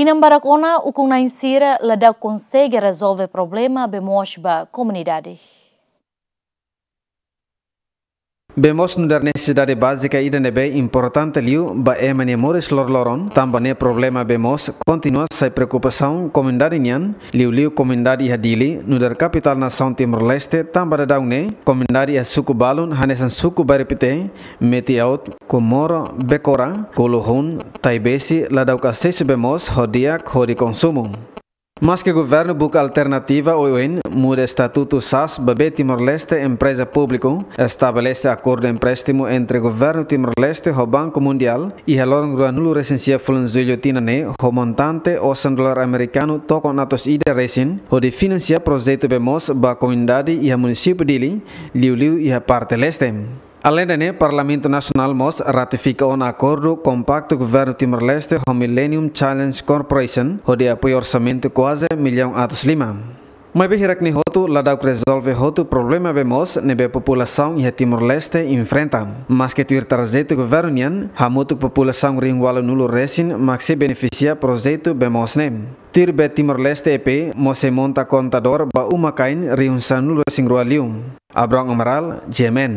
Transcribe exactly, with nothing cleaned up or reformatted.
Inan barak ona, ukun-na'in sira la dau konsege rezolve problema bee moos ba komunidade. Bee moos nu'udar nesesidade bázika ida ne'ebé importante liu ba ema nia moris loroloron, tanba ne'e problema bee moos kontinua sai preokupasaun komunidade nian, liuliu komunidade iha Dili, nu'udar kapitál nasaun Timor-Leste, tanba daudaun ne'e komunidade iha suku balun hanesan suku Bairripité, Meti-Aut, Comoro, Becora, Kuluhun, Taibesi, la dau asesu bee moos ho di'ak hodi konsumu. Maske governu buka alternativa oioin, muda estatutu sas ba bee Timor-Leste empreza públiku, estabelese akordu empréstimu entre governu Timor-Leste ho Banku Mundiál, iha loron ruanulu-resin-sia fulan Jullu tinan ne'e, ho montante osan dolar amerikanu tokon atus ida resin, hodi finansia projetu bee moos ba komunidade iha munisípiu Dili, liuliu iha parte leste. Aleinde ne'e, Parlamentu Nasionál mós ratifika ona akordu kompaktu governu Timor-Leste ho Millennium Challenge Corporation, hodi apoiu orsamentu kuaze millaun atus lima. Maibé hirak ne'e hotu la dau rezolve hotu problema bee moos ne'ebé populasaun iha Timor-Leste enfrenta. Maske tuir tarjetu governu nian, hamutuk populasaun rihun ualunulu resin mak sei benefisia projetu bee moos ne'e. Tuir B Timor-Leste E P mós sei monta kontadór ba uma-kain rihun sanulu-resin-rua liu. Abrão Amaral, G M N.